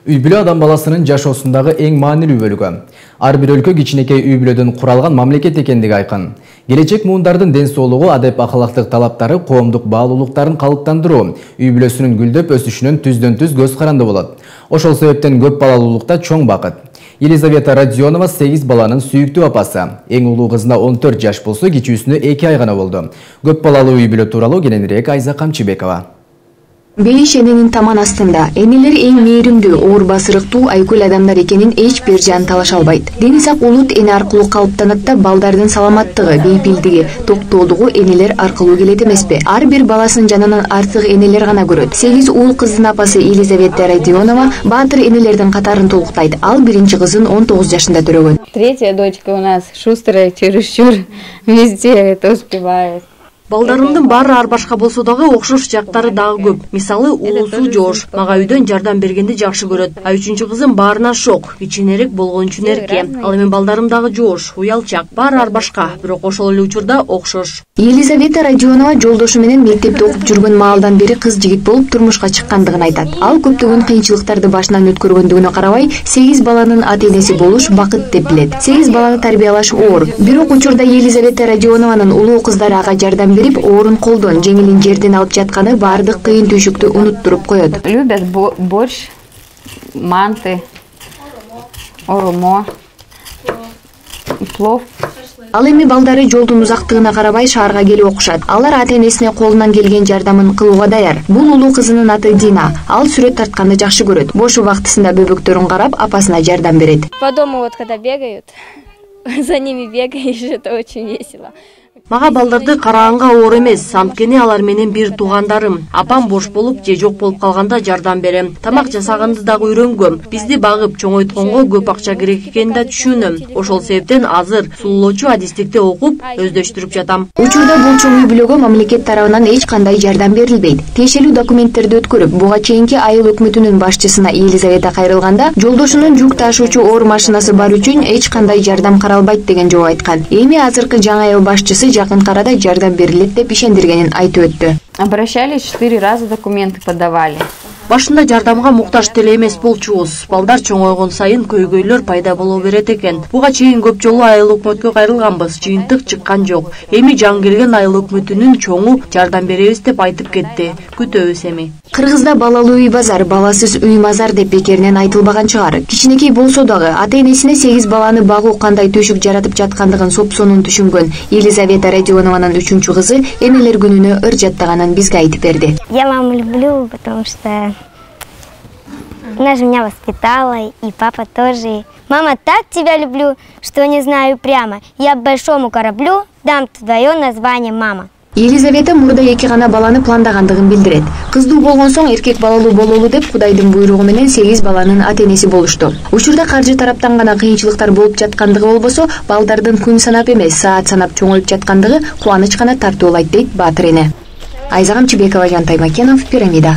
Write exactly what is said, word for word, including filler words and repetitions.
Үй бүлө адам баласынын жашоосундагы эң маанилүү бөлүгү. Ар бир өлкө кичинекей үй бүлөдөн куралган мамлекет экендиги айкын. Келечек муундардын ден соолугу, адеп акылактык талаптары, коомдук баалуулуктарын калыптандыруу үй бүлөсүнүн гүлдөп өсүшүнөн түздөн түз көз каранды болот. Ошол себептен көп балалуулукта чоң бакыт. Елизавета Родионова сегиз баланын сүйүктүү апасы. Эң улуу кызына он төрт жаш болсо, кичүүсүнө эки ай гана болду. Көп балалуу үй бүлө тууралуу кененирээк Айза Камчыбекова. Бейиш эненин таман астында. Энелер эң мээримдүү, оор басырыктуу, айкөл адамдар экенин эч бир жан талаша албайт. Дени сак улут эне аркылуу калыптанат да, балдардын саламаттыгы, бейпилдиги, токтоолугу энелер аркылуу келет эмеспи? Ар бир баласын жанынан артык энелер гана көрөт. сегиз уул кыздын апасы Елизавета Родионова баатыр энелердин катарын толуктайт. Ал биринчи кызын он тогуз жашында төрөгөн. Третья дочка у нас шустрая, чересчур, везде это успевает. Балдарымдын баары ар башка болсо дагы окшош жактары дагы көп. Мисалы, уулусу жоош, мага үйдөн жардам бергенди жакшы көрөт. А үчүнчү кызым баарына шок, кичинерээк болгон үчүн эрке. Ал эми балдарым дагы жоош, уялчак, баары ар башка, бирок ошол эле учурда окшош. Елизавета Родионова жолдошу менен мектепте окуп жүргөн маалдан бери кыз жигит болуп турмушка чыккандыгын айтат. Ал көптөгөн кыйынчылыктарды башынан өткөргөндүгүнө карабай, сегиз баланын ата-энеси болуш бакыт деп билет. сегиз баланы тарбиялаш оор. Бирок учурда Елизавета Родионованын улуу кыздары ага жардам берип, оорун колдон, жеңилин жерден алып жатканы баардык кыйын түйшүктү унуттуруп коет. Любят борщ, манты, оромо, плов. Ал эми балдары жолдун узактыгына карабай шаарга келип окушат. Алар ата-энесине колунан келген жардамын кылууга даяр. Бул улуу кызынын аты Дина. Ал сүрөт тартканды жакшы көрөт. Бош убактысында бөбөктөрүн карап, апасына жардам берет. По дому вот когда бегают, за ними бегаешь, это очень весело. Мага балдарды караганга оор эмес, анткени алар менен бир туугандарым. Апам бош болуп же жок болуп калганда жардам берем. Тамак жасаганды дагы үйрөнгөм. Бизди багып чоңойтконго көп акча керек экенин да түшүнөм. Ошол себептен азыр сулуулоочу адистикти окуп, өздөштүрүп жатам. Учурда бул чоң үй бүлөгө мамлекет тарабынан эч кандай жардам берилбейт. Тиешелүү документтерди өткөрүп, буга чейинки айыл өкмөтүнүн башчысына Елизавета кайрылганда, жолдошунун жүк ташуучу оор машинасы бар үчүн эч кандай жардам каралбайт деген жооп айткан. Эми азыркы жаңы айыл башчысы жакын арада жардам берилет деп ишендиргенин айтып өттү. Обращались четыре раза, документы подавали. Башында жардамга муктаж деле эмес болчубуз. Балдар чоңойгон сайын көйгөйлөр пайда боло берет экен. Буга чейин көп жолу айыл өкмөткө кайрылганбыз, жыйынтык чыккан жок. Эми жаңы келген айыл өкмөтүнүн чоңу жардам беребиз деп айтып кетти. Күтөбүз эми. Кыргызда балалуу үй базар, баласыз үй мазар деп бекеринен айтылбаган чыгар. Кичинекей болсо дагы ата-энесине сегиз баланы багуу кандай түйшүк жаратып жаткандыгын сопсонун түшүнгөн Елизавета Родионованын үчүнчү кызы энелер күнүнө ыр жаттаганын бизге айтып берди. Я маму люблю, потому что она же меня воспитала, и папа тоже. Мама, так тебя люблю, что не знаю прямо. Я большому кораблю дам твое название, мама. Елизавета мурда эки гана баланы пландагандыгын билдирет. Кыздуу болгон соң эркек балалуу бололу деп Кудайдын буйругу менен сегиз баланын ата-энеси болушту. Учурда каржы тараптан гана кыйынчылыктар болуп жаткандыгы болбосо, балдардын күн санап эмес, саат санап чоңоюп жаткандыгы кубаныч гана тартуулайт дейт баатыр эне. Айза Камчыбекова, Жантай Макенов, Пирамида.